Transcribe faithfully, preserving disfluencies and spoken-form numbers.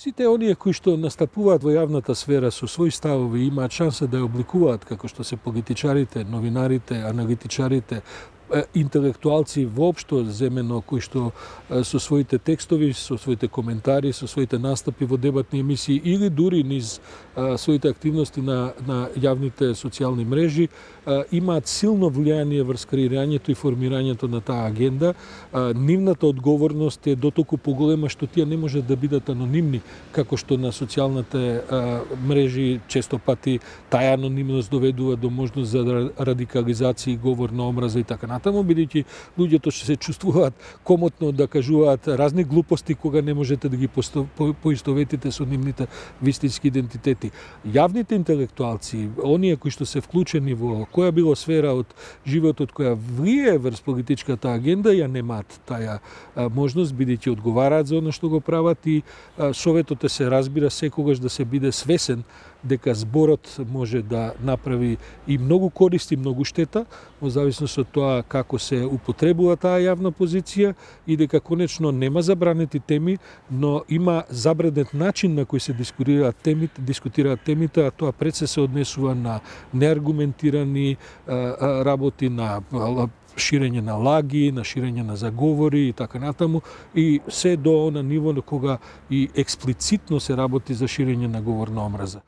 Сите оние кои што настапуваат во јавната сфера со своји ставови имаат шанса да ја обликуваат како што се политичарите, новинарите, аналитичарите, интелектуалци воопшто земено кои што со своите текстови, со своите коментари, со своите настапи во дебатни емисии или дури низ своите активности на, на јавните социјални мрежи имаат силно влијание врз креирањето и формирањето на таа агенда. Нивната одговорност е дотолку поголема што тие не можат да бидат анонимни, како што на социјалните мрежи често пати таа анонимност доведува до можност за радикализација, говор на омраза и така натаму, бидејќи луѓето што се чувствуваат комотно да кажуваат разни глупости кога не можете да ги поистоветите со нивните вистински идентитети. Јавните интелектуалци, оние кои што се вклучени во која било сфера од животот која влие врз политичката агенда, ја немаат таа можност, бидејќи одговараат за она што го прават и советот е се разбира секогаш да се биде свесен дека зборот може да направи и многу корист и многу штета, во зависност од тоа како се употребува таа јавна позиција и дека конечно нема забранети теми, но има забранет начин на кој се дискутираат темите, дискутираат темите, а тоа пред се се однесува на неаргументирани работи, на ширење на лаги, на ширење на заговори и така натаму, и се до она ниво на кога и експлицитно се работи за ширење на говор на омраза.